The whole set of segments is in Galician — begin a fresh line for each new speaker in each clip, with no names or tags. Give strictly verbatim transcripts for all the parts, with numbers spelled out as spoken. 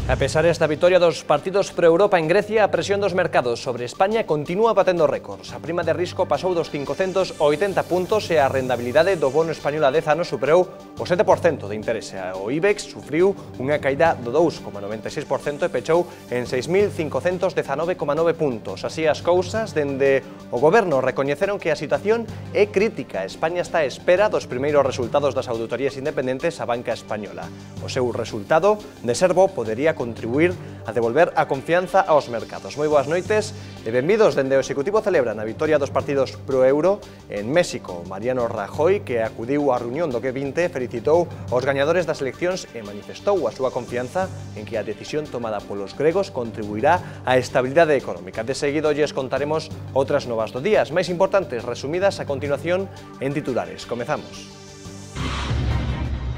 A pesar desta vitoria dos partidos pro-Europa en Grecia, a presión dos mercados sobre España continúa batendo récords. A prima de risco pasou dos cincocentos oitenta puntos e a rendabilidade do bono español a dez anos superou o sete por cento de interese. O IBEX sufriu unha caída do dous coma noventa e seis por cento e pechou en seis mil cincocentos dezanove coma nove puntos. Así as cousas, dende o goberno recoñeceron que a situación é crítica. España está á espera dos primeiros resultados das auditorías independentes á banca española. O seu resultado, de ser bo, podería contribuir a devolver a confianza aos mercados. Moi boas noites e benvidos. Dende o Executivo celebran a vitoria dos partidos pro-euro en México. Mariano Rajoy, que acudiu á reunión do G vinte, felicitou aos gañadores das eleccións e manifestou a súa confianza en que a decisión tomada polos gregos contribuirá á estabilidade económica. De seguido lles contaremos outras novas do día, as máis importantes, resumidas a continuación en titulares. Comezamos.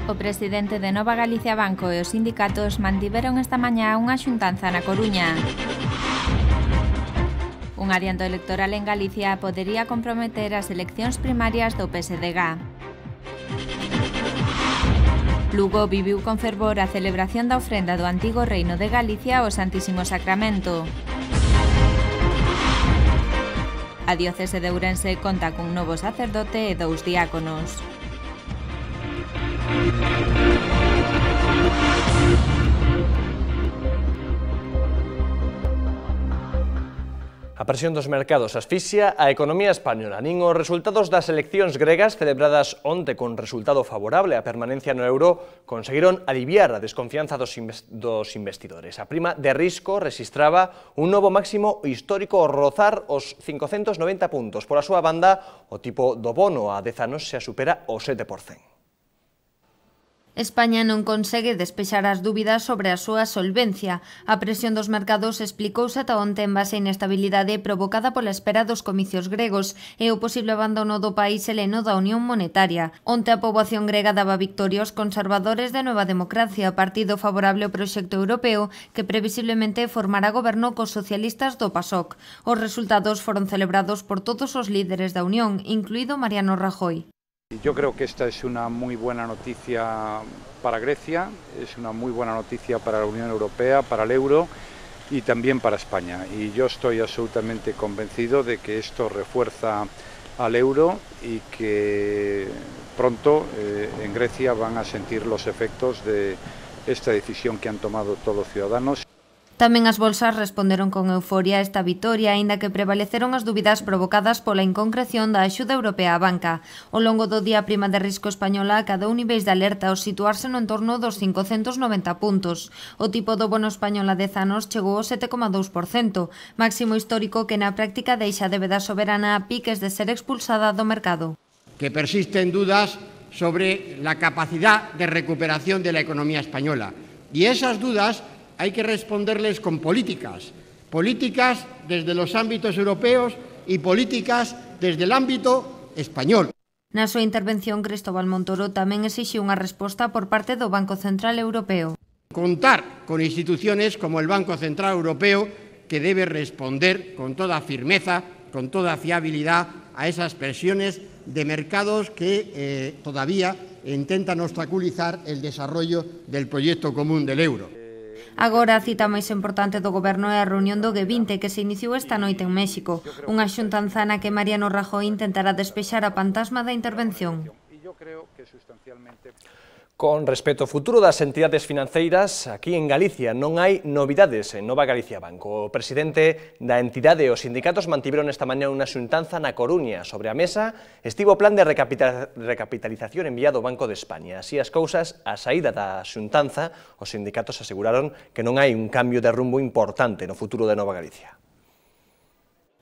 O presidente de Nova Galicia Banco e os sindicatos mantiveron esta mañá unha xuntanza na Coruña. Un adianto electoral en Galicia podería comprometer as eleccións primarias do P S D G. Lugo viviu con fervor a celebración da ofrenda do antigo Reino de Galicia ao Santísimo Sacramento. A diocese de Ourense conta cun novo sacerdote e dous diáconos.
A presión dos mercados asfixia a economía española. Nin os resultados das eleccións gregas celebradas onte con resultado favorable á permanencia no euro conseguiron aliviar a desconfianza dos investidores. A prima de risco rexistraba un novo máximo histórico ao rozar os cincocentos noventa puntos. Pola súa banda, o tipo do bono a dez anos xa supera o sete por cento.
España non consegue despexar as dúbidas sobre a súa solvencia. A presión dos mercados explicouse ata onte en base á inestabilidade provocada pola espera dos comicios gregos e o posible abandono do país heleno da Unión Monetaria. Onte a poboación grega daba victoria aos conservadores de Nueva Democracia, partido favorable ao proxecto europeo que previsiblemente formará goberno cos socialistas do PASOK. Os resultados foron celebrados por todos os líderes da Unión, incluído Mariano Rajoy.
Yo creo que esta es una muy buena noticia para Grecia, es una muy buena noticia para la Unión Europea, para el euro y también para España. Y yo estoy absolutamente convencido de que esto refuerza al euro y que pronto eh, en Grecia van a sentir los efectos de esta decisión que han tomado todos los ciudadanos.
Tamén as bolsas responderon con euforia a esta vitoria, aínda que prevaleceron as dúbidas provocadas pola inconcreción da axuda europea á banca. Ao longo do día, a prima de risco española acadou niveis de alerta ao situarse no entorno dos cincocentos noventa puntos. O tipo do bono español a dez anos chegou ao sete coma dous por cento, máximo histórico que na práctica deixa a débeda soberana a piques de ser expulsada do mercado.
Que persisten dudas sobre la capacidad de recuperación de la economía española. Y esas dudas hay que responderles con políticas, políticas desde los ámbitos europeos y políticas desde el ámbito español.
Na súa intervención, Cristóbal Montoro tamén exixiu unha resposta por parte do Banco Central Europeo.
Contar con instituciones como el Banco Central Europeo, que debe responder con toda firmeza, con toda fiabilidad a esas presiones de mercados que eh, todavía intentan obstaculizar el desarrollo del proyecto común del euro.
Agora, a cita máis importante do goberno é a reunión do G vinte que se iniciou esta noite en México, unha xuntanza na que Mariano Rajoy intentará despexar a fantasma da intervención.
Con respecto ao futuro das entidades financeiras, aquí en Galicia non hai novidades en Nova Galicia Banco. O presidente da entidade e os sindicatos mantiveron esta mañá unha xuntanza na Coruña. Sobre a mesa estivo o plan de recapitalización enviado ao Banco de España. Así as cousas, a saída da xuntanza, os sindicatos aseguraron que non hai un cambio de rumbo importante no futuro de Nova Galicia.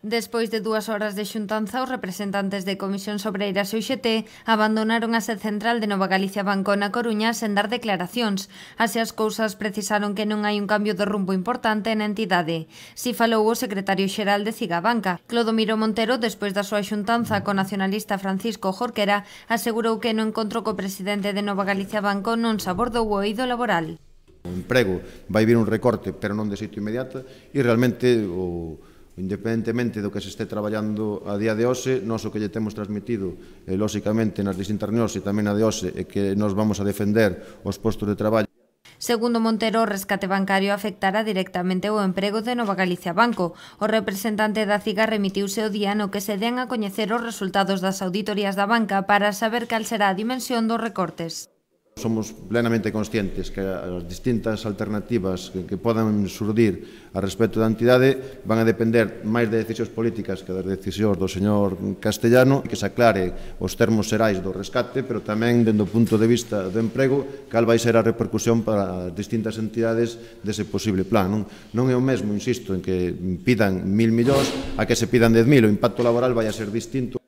Despois de dúas horas de xuntanza, os representantes de Comisións Obreiras e U G T abandonaron a sede central de Nova Galicia Banco na Coruña sen dar declaracións. Así as cousas, precisaron que non hai un cambio de rumbo importante na entidade. Si falou o secretario xeral de Cigabanca. Clodomiro Montero, despois da súa xuntanza co nacionalista Francisco Jorquera, asegurou que no encontro co presidente de Nova Galicia Banco non se abordou o eido laboral.
O emprego vai vir un recorte, pero non de xeito inmediato, e realmente o independentemente do que se este traballando a día de hoxe, nós o que lle temos transmitido, eh, lóxicamente, nas distintas reunións e tamén a de hoxe, é que nós vamos a defender os postos de traballo.
Segundo Montero, o rescate bancario afectará directamente o emprego de Nova Galicia Banco. O representante da CIGA remitiuse o día no que se den a coñecer os resultados das auditorías da banca para saber cal será a dimensión dos recortes.
Somos plenamente conscientes que as distintas alternativas que, que podan surdir a respecto da entidade van a depender máis de decisións políticas que das decisións do señor Castellano, que se aclare os termos xerais do rescate, pero tamén, dende o punto de vista do emprego, cal vai ser a repercusión para as distintas entidades dese posible plan. Non, non é o mesmo, insisto, en que pidan mil millóns a que se pidan dez mil, o impacto laboral vai a ser distinto.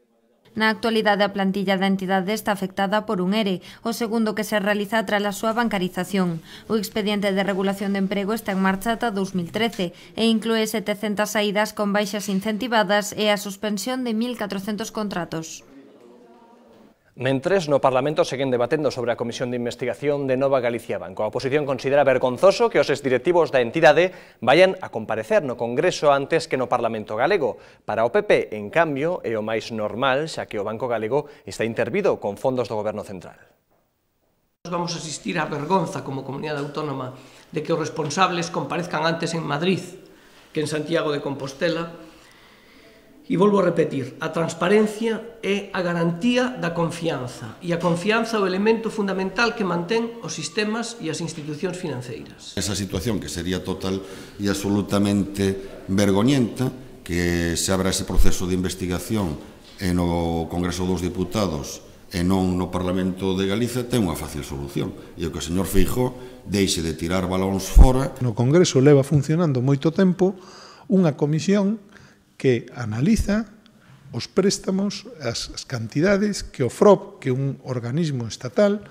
Na actualidade, a plantilla da entidade está afectada por un ERE, o segundo que se realiza tras a súa bancarización. O expediente de regulación de emprego está en marcha ata dos mil trece e inclúe setecentas saídas con baixas incentivadas e a suspensión de mil catrocentos contratos.
Mentres, no Parlamento seguen debatendo sobre a Comisión de Investigación de Nova Galicia Banco. A oposición considera vergonzoso que os exdirectivos da entidade vayan a comparecer no Congreso antes que no Parlamento galego. Para o P P, en cambio, é o máis normal, xa que o Banco Galego está intervido con fondos do Goberno Central.
Vamos a asistir á vergonza como comunidade autónoma de que os responsables comparezcan antes en Madrid que en Santiago de Compostela. E volvo a repetir, a transparencia é a garantía da confianza, e a confianza é o elemento fundamental que mantén os sistemas e as institucións financeiras.
Esa situación que sería total e absolutamente vergoñenta, que se abra ese proceso de investigación no Congreso dos Diputados e non no Parlamento de Galicia, ten unha fácil solución, e o que o señor Feijóo deixe de tirar balóns fora.
No Congreso leva funcionando moito tempo unha comisión que analiza os préstamos, as, as cantidades que o F R O P, que é un organismo estatal,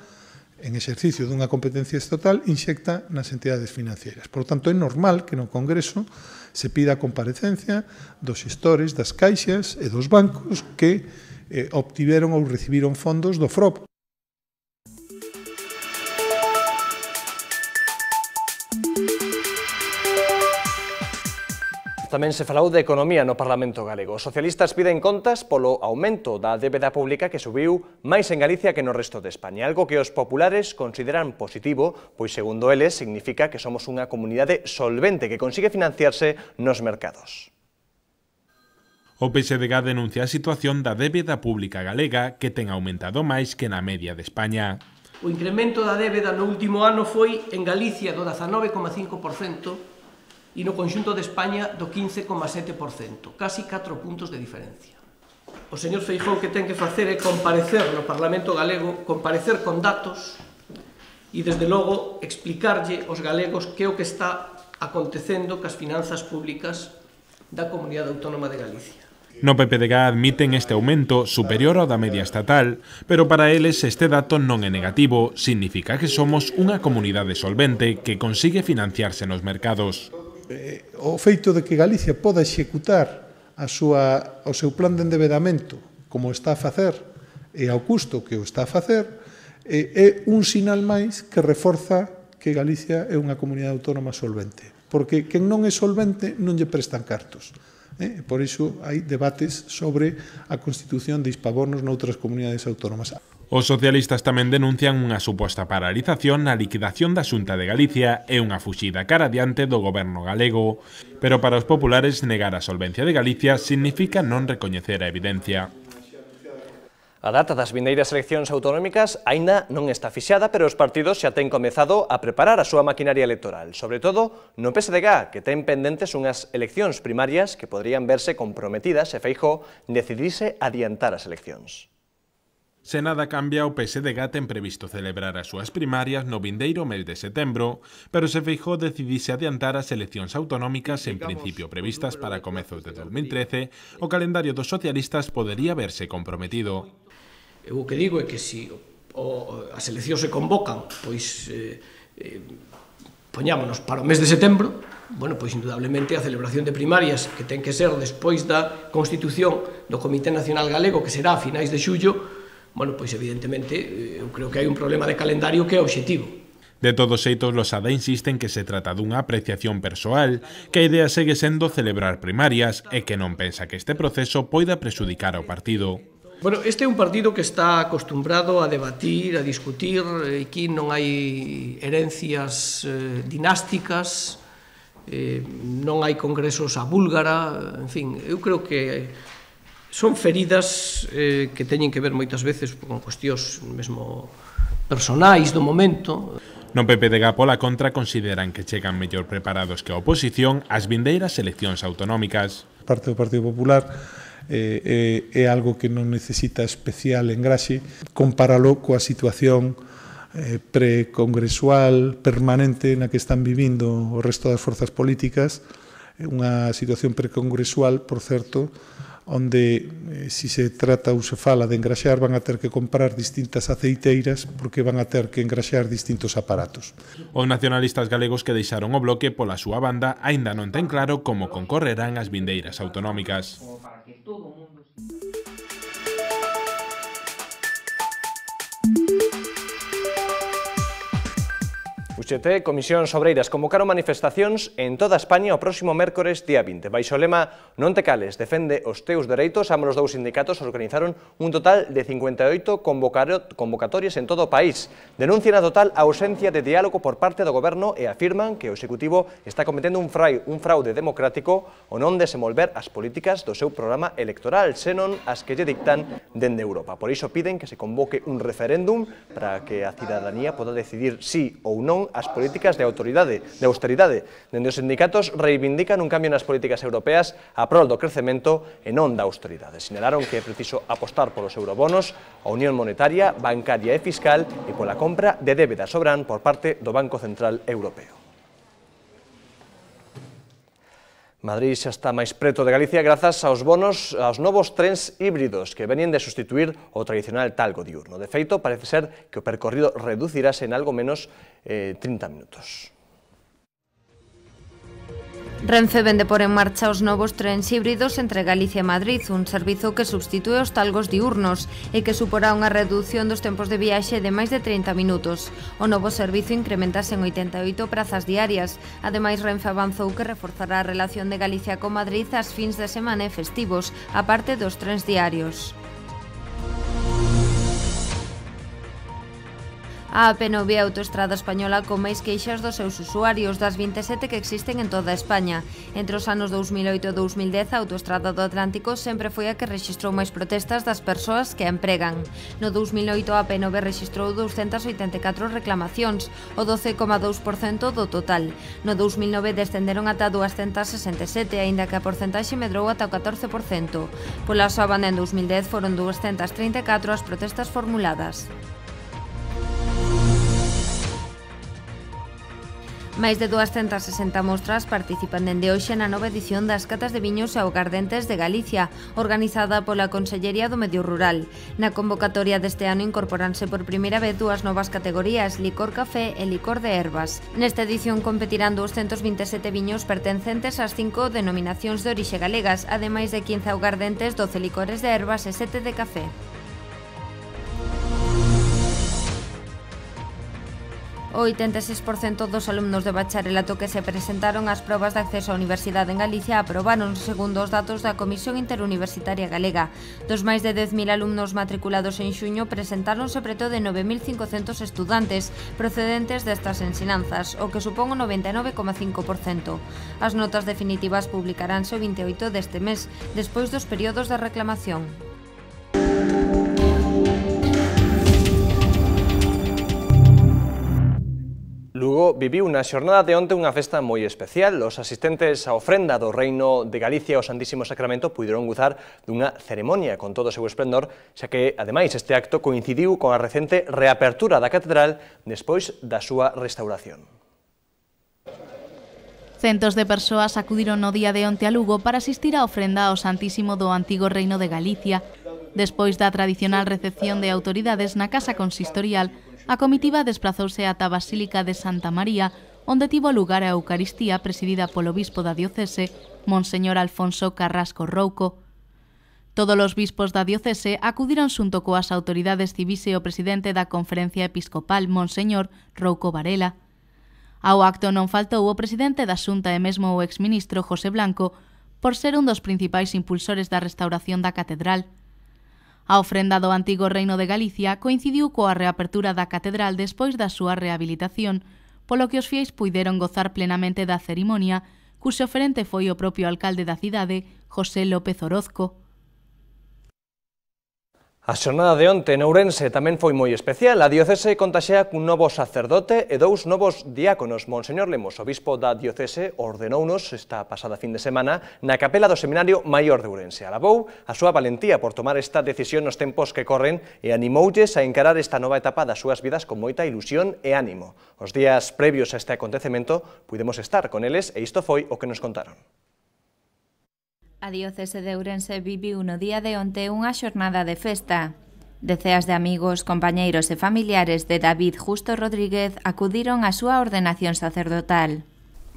en exercicio dunha competencia estatal, inxecta nas entidades financeiras. Por tanto, é normal que no Congreso se pida a comparecencia dos xestores das caixas e dos bancos que eh, obtiveron ou recibiron fondos do F R O P.
Tamén se falou de economía no Parlamento galego. Os socialistas piden contas polo aumento da débeda pública que subiu máis en Galicia que no resto de España, algo que os populares consideran positivo, pois segundo eles significa que somos unha comunidade solvente que consigue financiarse nos mercados.
O P S D G denuncia a situación da débeda pública galega que ten aumentado máis que na media de España.
O incremento da débeda no último ano foi en Galicia do dezanove coma cinco por cento e no conxunto de España do quince coma sete por cento, casi catro puntos de diferencia. O señor Feijóo que ten que facer é comparecer no Parlamento galego, comparecer con datos e, desde logo, explicarlle aos galegos que é o que está acontecendo cas finanzas públicas da Comunidade Autónoma de Galicia.
No P P D G admiten este aumento superior ao da media estatal, pero para eles este dato non é negativo, significa que somos unha comunidade solvente que consigue financiarse nos mercados.
Eh, o feito de que Galicia poda executar a súa, o seu plan de endebedamento como está a facer e ao custo que o está a facer eh, é un sinal máis que reforza que Galicia é unha comunidade autónoma solvente, porque quen non é solvente non lle prestan cartos. Eh? Por iso hai debates sobre a constitución de hispabonos noutras comunidades autónomas.
Os socialistas tamén denuncian unha suposta paralización na liquidación da Xunta de Galicia e unha fuxida cara adiante do goberno galego. Pero para os populares negar a solvencia de Galicia significa non recoñecer a evidencia.
A data das vindeiras eleccións autonómicas aínda non está fixada, pero os partidos xa ten comezado a preparar a súa maquinaria electoral, sobre todo no P S D G, que ten pendentes unhas eleccións primarias que podrían verse comprometidas se Feijóo decidise adiantar as eleccións.
Se nada cambia, o P S D G ten previsto celebrar as súas primarias no vindeiro mes de setembro, pero se Feijóo decidise adiantar as eleccións autonómicas en principio previstas para comezos de dos mil trece, o calendario dos socialistas podería verse comprometido.
Eu o que digo é que se o, as eleccións se convocan, pois eh, eh, poñámonos para o mes de setembro, bueno, pois indudablemente a celebración de primarias que ten que ser despois da constitución do Comité Nacional Galego, que será a finais de xullo, bueno, pois evidentemente eu creo que hai un problema de calendario que é obxectivo.
De todos xeitos, Losada insiste en que se trata dunha apreciación persoal, que a idea segue sendo celebrar primarias e que non pensa que este proceso poida prexudicar ao partido.
Bueno, este é un partido que está acostumbrado a debatir, a discutir, aquí non hai herencias eh, dinásticas, eh, non hai congresos a búlgara, en fin, eu creo que son feridas eh, que teñen que ver moitas veces con cuestións mesmo personais do momento.
No P P de G, pola contra, consideran que chegan mellor preparados que a oposición ás vindeiras eleccións autonómicas.
Parte do Partido Popular eh, é, é algo que non necesita especial engraxe, compáralo coa situación eh, precongresual permanente na que están vivindo o resto das forzas políticas, unha situación precongresual, por certo, onde, eh, si se trata ou se fala de engraxar, van a ter que comprar distintas aceiteiras porque van a ter que engraxar distintos aparatos.
Os nacionalistas galegos que deixaron o bloque pola súa banda aínda non ten claro como concorrerán as vindeiras autonómicas.
U G T, Comisións Obreiras, convocaron manifestacións en toda España o próximo mércores día vinte. Baixo o lema Non te cales, defende os teus dereitos, ambos os dous sindicatos organizaron un total de cincuenta e oito convocatorias en todo o país. Denuncian a total ausencia de diálogo por parte do Goberno e afirman que o Executivo está cometendo un fraude democrático ao non desenvolver as políticas do seu programa electoral, senón as que lle dictan dende Europa. Por iso piden que se convoque un referéndum para que a cidadanía poda decidir sí ou non as políticas de autoridade, de austeridade. Dende os sindicatos reivindican un cambio nas políticas europeas a prol do crecemento e non da austeridade. Sinalaron que é preciso apostar polos eurobonos, a unión monetaria, bancaria e fiscal e pola compra de débeda soberán por parte do Banco Central Europeo. Madrid xa está máis preto de Galicia grazas aos bonos, aos novos trens híbridos que venían de sustituir o tradicional talgo diurno. De feito, parece ser que o percorrido reducirase en algo menos eh, trinta minutos.
Renfe vende por en marcha os novos trens híbridos entre Galicia e Madrid, un servizo que substitúe os talgos diurnos e que suporá unha reducción dos tempos de viaxe de máis de trinta minutos. O novo servizo incrementase en oitenta e oito prazas diarias. Ademais, Renfe avanzou que reforzará a relación de Galicia con Madrid ás fins de semana e festivos, aparte dos trens diarios. A A P nove é a autoestrada española con máis queixas dos seus usuarios, das vinte e sete que existen en toda España. Entre os anos dous mil oito e dous mil dez, a autoestrada do Atlántico sempre foi a que rexistrou máis protestas das persoas que a empregan. No dous mil oito, a A P nove rexistrou doscientas oitenta e catro reclamacións, o doce coma dous por cento do total. No dous mil nove descenderon ata duascentas sesenta e sete, aínda que a porcentaxe medrou ata o catorce por cento. Pola súa banda, en dous mil dez foron duascentas trinta e catro as protestas formuladas. Máis de duascentas sesenta mostras participan dende hoxe na nova edición das Catas de Viños e Augardentes de Galicia, organizada pola Consellería do Medio Rural. Na convocatoria deste ano incorporanse por primeira vez dúas novas categorías, licor café e licor de ervas. Nesta edición competirán doscientos vinte e sete viños pertencentes ás cinco denominacións de orixe galegas, ademais de quince augardentes, doce licores de ervas e sete de café. O oitenta e seis por cento dos alumnos de bacharelato que se presentaron ás probas de acceso á universidade en Galicia aprobaron, segundo os datos da Comisión Interuniversitaria Galega. Dos máis de dez mil alumnos matriculados en xuño, presentáronse preto de nove mil cincocentos estudantes procedentes destas ensinanzas, o que supón o noventa e nove coma cinco por cento. As notas definitivas publicaránse o vinte e oito deste mes, despois dos períodos de reclamación.
Lugo viviu na xornada de onte unha festa moi especial. Os asistentes á ofrenda do Reino de Galicia ao Santísimo Sacramento puideron gozar dunha ceremonia con todo o seu esplendor, xa que, ademais, este acto coincidiu con a recente reapertura da catedral despois da súa restauración.
Centos de persoas acudiron no día de onte a Lugo para asistir á ofrenda ao Santísimo do Antigo Reino de Galicia. Despois da tradicional recepción de autoridades na Casa Consistorial, a comitiva desplazouse ata a Basílica de Santa María, onde tivo lugar a Eucaristía presidida polo bispo da diocese, Monseñor Alfonso Carrasco Rouco. Todos os bispos da diocese acudiron xunto coas autoridades civís e o presidente da Conferencia Episcopal, Monseñor Rouco Varela. Ao acto non faltou o presidente da Xunta e mesmo o exministro José Blanco, por ser un dos principais impulsores da restauración da catedral. A ofrenda do antigo Reino de Galicia coincidiu coa reapertura da catedral despois da súa rehabilitación, polo que os fiéis puideron gozar plenamente da cerimonia, cuxo oferente foi o propio alcalde da cidade, José López Orozco.
A xornada de onte en Ourense tamén foi moi especial. A diocese contaxea cun novo sacerdote e dous novos diáconos. Monseñor Lemos, obispo da diocese, ordenounos esta pasada fin de semana na capela do Seminario Maior de Ourense. Alabou a súa valentía por tomar esta decisión nos tempos que corren e animoulles a encarar esta nova etapa das súas vidas con moita ilusión e ánimo. Os días previos a este acontecemento pudemos estar con eles e isto foi o que nos contaron.
A diocese de Ourense viviu no día de onte unha xornada de festa. Deceas de amigos, compañeiros e familiares de David Justo Rodríguez acudiron á súa ordenación sacerdotal.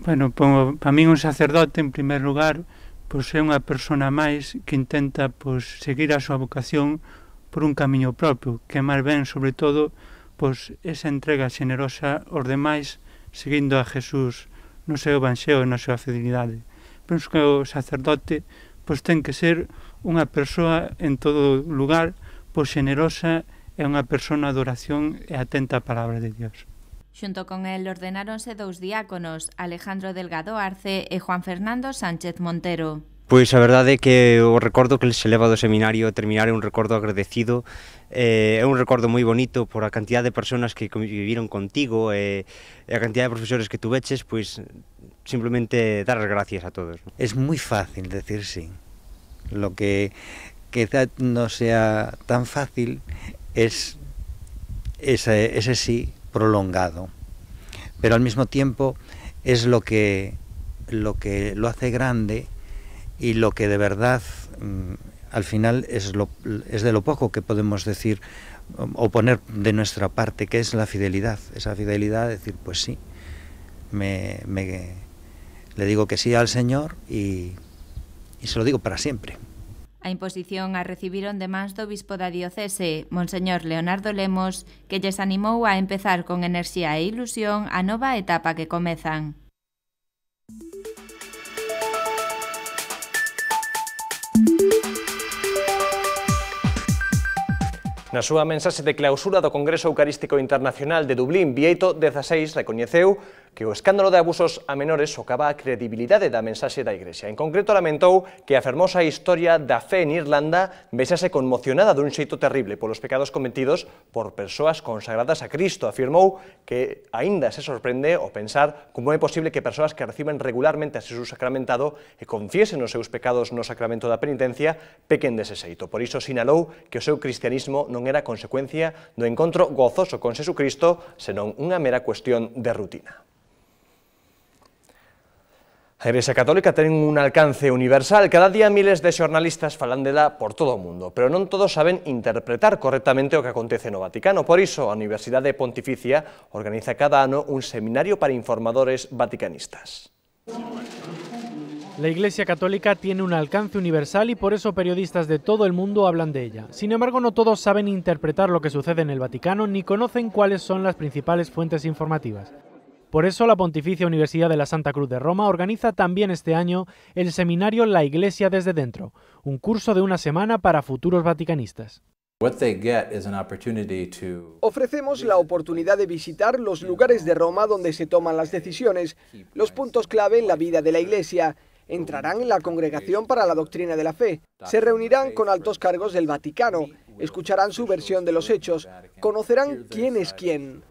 Bueno, para min un sacerdote, en primer lugar, pois é unha persona máis que intenta pois, seguir a súa vocación por un camiño propio, que máis ben, sobre todo, pois, esa entrega xenerosa aos demais, seguindo a Jesús no seu evanxeo e na súa fidelidade. Penso que o sacerdote pois, ten que ser unha persoa en todo lugar, pois xenerosa e unha persona de oración e atenta á palabra de Dios.
Xunto con el ordenáronse dous diáconos, Alejandro Delgado Arce e Juan Fernando Sánchez Montero.
Pois a verdade é que o recordo que se leva do seminario terminar é un recordo agradecido, eh, é un recordo moi bonito por a cantidad de persoas que viviron contigo e, e a cantidad de profesores que tuveches, pois simplemente dar as gracias a todos.
Es muy fácil decir sí. Lo que quizá no sea tan fácil es ese, ese sí prolongado, pero al mismo tiempo es lo que, lo que lo hace grande y lo que de verdad al final es, lo, es de lo poco que podemos decir o poner de nuestra parte, que es la fidelidad, esa fidelidad de decir pues sí, me, me, le digo que sí al Señor y, y se lo digo para siempre.
A imposición a recibiron de mans do bispo da diocese, Monseñor Leonardo Lemos, que lles animou a empezar con enerxía e ilusión a nova etapa que comezan.
Na súa mensaxe de clausura do Congreso Eucarístico Internacional de Dublín, Bieito dezasseis recoñeceu que o escándalo de abusos a menores socava a credibilidade da mensaxe da Igrexa. En concreto, lamentou que a fermosa historia da fe en Irlanda vexase conmocionada dun xeito terrible polos pecados cometidos por persoas consagradas a Cristo. Afirmou que aínda se sorprende ao pensar como é posible que persoas que reciben regularmente a Xesús sacramentado e confiesen os seus pecados no sacramento da penitencia pequen dese xeito. Por iso sinalou que o seu cristianismo non era consecuencia do encontro gozoso con Xesucristo, senón unha mera cuestión de rutina. A Igrexa Católica ten un alcance universal. Cada día miles de xornalistas falan dela por todo o mundo, pero non todos saben interpretar correctamente o que acontece no Vaticano. Por iso, a Universidade Pontificia organiza cada ano un seminario para informadores vaticanistas.
La Iglesia Católica tiene un alcance universal y por eso periodistas de todo el mundo hablan de ella. Sin embargo, no todos saben interpretar lo que sucede en el Vaticano ni conocen cuáles son las principales fuentes informativas. Por eso, la Pontificia Universidad de la Santa Cruz de Roma organiza también este año el seminario La Iglesia desde dentro, un curso de una semana para futuros vaticanistas.
Ofrecemos la oportunidad de visitar los lugares de Roma donde se toman las decisiones, los puntos clave en la vida de la Iglesia. Entrarán en la Congregación para la Doctrina de la Fe, se reunirán con altos cargos del Vaticano, escucharán su versión de los hechos, conocerán quién es quién.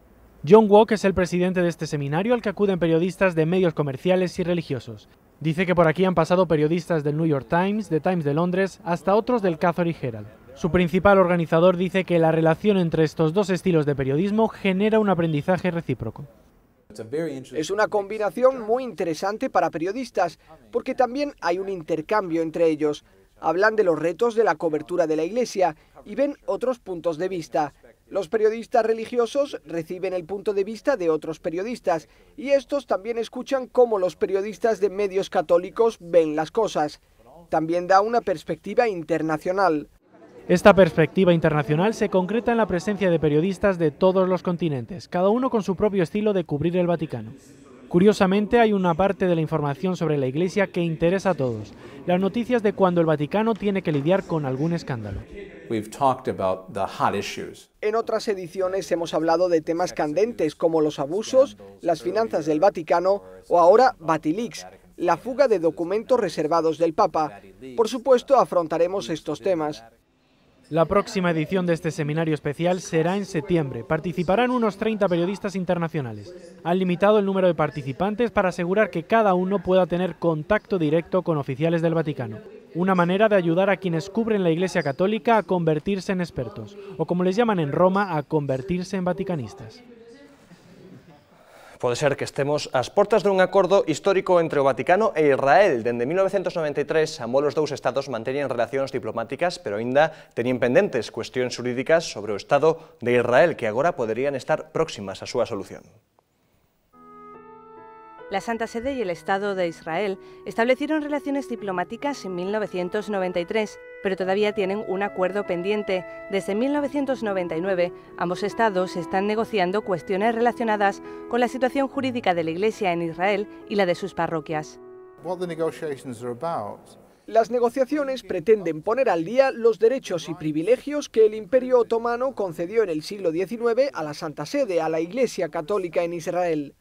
John Walk es el presidente de este seminario al que acuden periodistas de medios comerciales y religiosos. Dice que por aquí han pasado periodistas del New York Times, de Times de Londres, hasta otros del Catholic Herald. Su principal organizador dice que la relación entre estos dos estilos de periodismo genera un aprendizaje recíproco.
Es una combinación muy interesante para periodistas, porque también hay un intercambio entre ellos. Hablan de los retos de la cobertura de la Iglesia y ven otros puntos de vista. Los periodistas religiosos reciben el punto de vista de otros periodistas y estos también escuchan cómo los periodistas de medios católicos ven las cosas. También da una perspectiva internacional.
Esta perspectiva internacional se concreta en la presencia de periodistas de todos los continentes, cada uno con su propio estilo de cubrir el Vaticano. Curiosamente, hay una parte de la información sobre la Iglesia que interesa a todos, las noticias de cuando el Vaticano tiene que lidiar con algún escándalo.
we've talked about the hot issues.
En otras ediciones hemos hablado de temas candentes como los abusos, las finanzas del Vaticano o ahora Vatileaks, la fuga de documentos reservados del Papa. Por supuesto, afrontaremos estos temas.
La próxima edición de este seminario especial será en septiembre. Participarán unos treinta periodistas internacionales. Han limitado el número de participantes para asegurar que cada uno pueda tener contacto directo con oficiales del Vaticano. Una manera de ayudar a quienes cubren la Iglesia Católica a convertirse en expertos, o como les llaman en Roma, a convertirse en vaticanistas.
Pode ser que estemos ás portas dun acordo histórico entre o Vaticano e Israel. Dende mil novecentos noventa e tres, ambos os dous estados manteñen relacións diplomáticas, pero aínda teñen pendentes cuestións xurídicas sobre o Estado de Israel, que agora poderían estar próximas á súa solución.
La Santa Sede y el Estado de Israel establecieron relaciones diplomáticas en mil novecientos noventa y tres, pero todavía tienen un acuerdo pendiente. Desde mil novecientos noventa y nueve, ambos estados están negociando cuestiones relacionadas con la situación jurídica de la Iglesia en Israel y la de sus parroquias.
Las negociaciones pretenden poner al día los derechos y privilegios que el Imperio Otomano concedió en el siglo diecinueve a la Santa Sede, a la Iglesia Católica en Israel.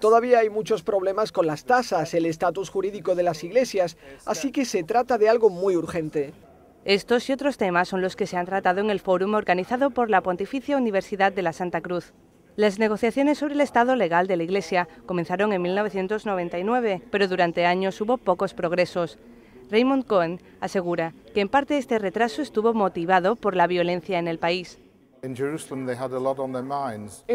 Todavía hay muchos problemas con las tasas, el estatus jurídico de las iglesias, así que se trata de algo muy urgente.
Estos y otros temas son los que se han tratado en el fórum organizado por la Pontificia Universidad de la Santa Cruz. Las negociaciones sobre el estado legal de la Iglesia comenzaron en mil novecientos noventa y nueve, pero durante años hubo pocos progresos. Raymond Cohen asegura que en parte este retraso estuvo motivado por la violencia en el país.
En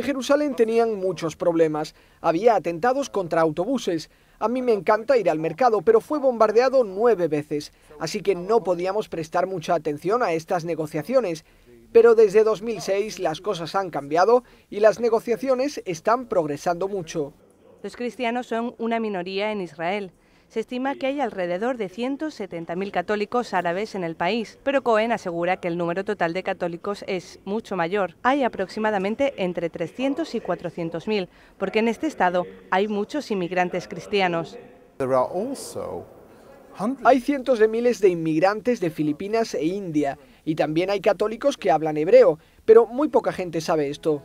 Jerusalén tenían muchos problemas. Había atentados contra autobuses. A mí me encanta ir al mercado, pero fue bombardeado nueve veces. Así que no podíamos prestar mucha atención a estas negociaciones. Pero desde dos mil seis las cosas han cambiado y las negociaciones están progresando mucho.
Los cristianos son una minoría en Israel. Se estima que hay alrededor de ciento setenta mil católicos árabes en el país, pero Cohen asegura que el número total de católicos es mucho mayor. Hay aproximadamente entre trescientos y cuatrocientos mil, porque en este estado hay muchos inmigrantes cristianos.
Hay cientos de miles de inmigrantes de Filipinas e India, y también hay católicos que hablan hebreo, pero muy poca gente sabe esto.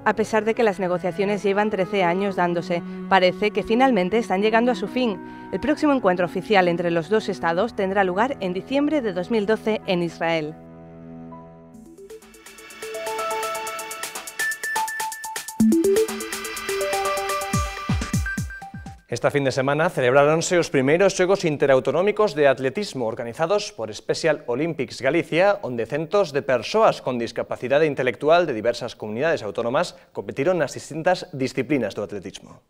A pesar de que las negociaciones llevan trece años dándose, parece que finalmente están llegando a su fin. El próximo encuentro oficial entre los dos estados tendrá lugar en diciembre de dos mil doce en Israel.
Esta fin de semana celebráronse os primeiros Xogos Interautonómicos de Atletismo organizados por Special Olympics Galicia, onde centos de persoas con discapacidade intelectual de diversas comunidades autónomas competiron nas distintas disciplinas do atletismo.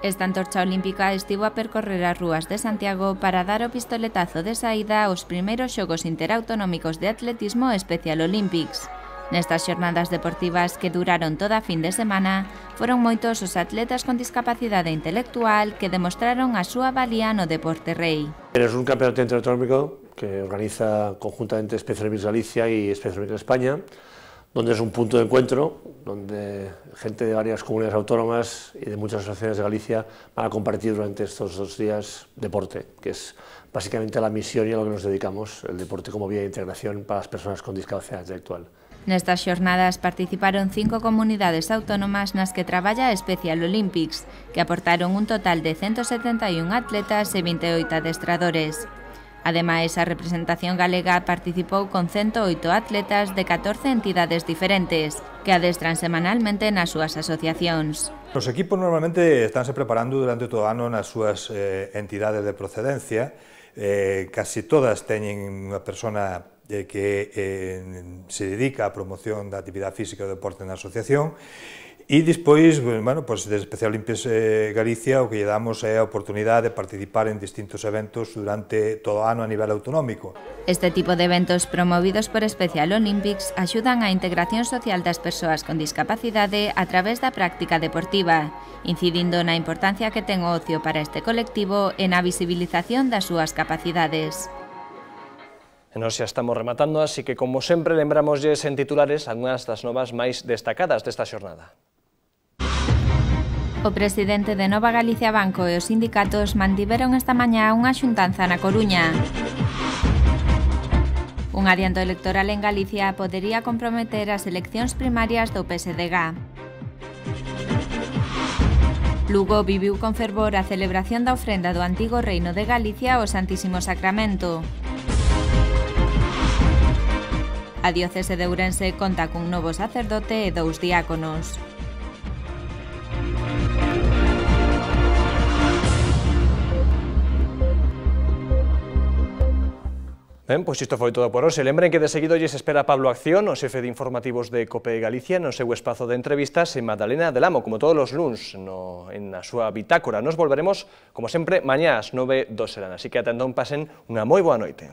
Esta antorcha olímpica estivo a percorrer as rúas de Santiago para dar o pistoletazo de saída aos primeiros Xogos Interautonómicos de Atletismo Special Olympics. Nestas xornadas deportivas que duraron toda a fin de semana, foron moitos os atletas con discapacidade intelectual que demostraron a súa valía no deporte rei.
Es un campeonato interautonómico que organiza conjuntamente Special Olympics Galicia y Special Olympics España, donde es un punto de encuentro, donde gente de varias comunidades autónomas y de muchas asociaciones de Galicia van a compartir durante estos dos días deporte, que es básicamente la misión y a lo que nos dedicamos, el deporte como vía de integración para las personas con discapacidad intelectual.
Nestas xornadas participaron cinco comunidades autónomas nas que traballa Special Olympics, que aportaron un total de ciento setenta e un atletas e vinte e oito adestradores. Ademais, a representación galega participou con ciento oito atletas de catorce entidades diferentes, que adestran semanalmente nas súas asociacións.
Os equipos normalmente estánse preparando durante todo o ano nas súas eh, entidades de procedencia. Eh, casi todas teñen unha persona eh, que eh, se dedica á promoción da actividade física e do deporte na asociación. E despois, bueno, pues, de Special Olympics eh, Galicia, o que lle damos é a oportunidade de participar en distintos eventos durante todo o ano a nivel autonómico.
Este tipo de eventos promovidos por Special Olympics axudan á integración social das persoas con discapacidade a través da práctica deportiva, incidindo na importancia que ten o ocio para este colectivo e na visibilización das súas capacidades.
E nós xa estamos rematando, así que, como sempre, lembramosles en titulares algunhas das novas máis destacadas desta xornada.
O presidente de Nova Galicia Banco e os sindicatos mantiveron esta mañá unha xuntanza na Coruña. Un adianto electoral en Galicia podería comprometer as eleccións primarias do P S D G. Lugo viviu con fervor a celebración da ofrenda do antigo reino de Galicia ao Santísimo Sacramento. A diocese de Ourense conta cun novo sacerdote e dous diáconos.
Ben, pois isto foi todo por hoxe. Lembren que de seguido lles espera Pablo Acción, o xefe de informativos de COPE Galicia, no seu espazo de entrevistas en Magdalena del Amo, como todos os luns, no, en a súa bitácora. Nos volveremos, como sempre, mañá ás nove do serán. Así que atendón, pasen unha moi boa noite.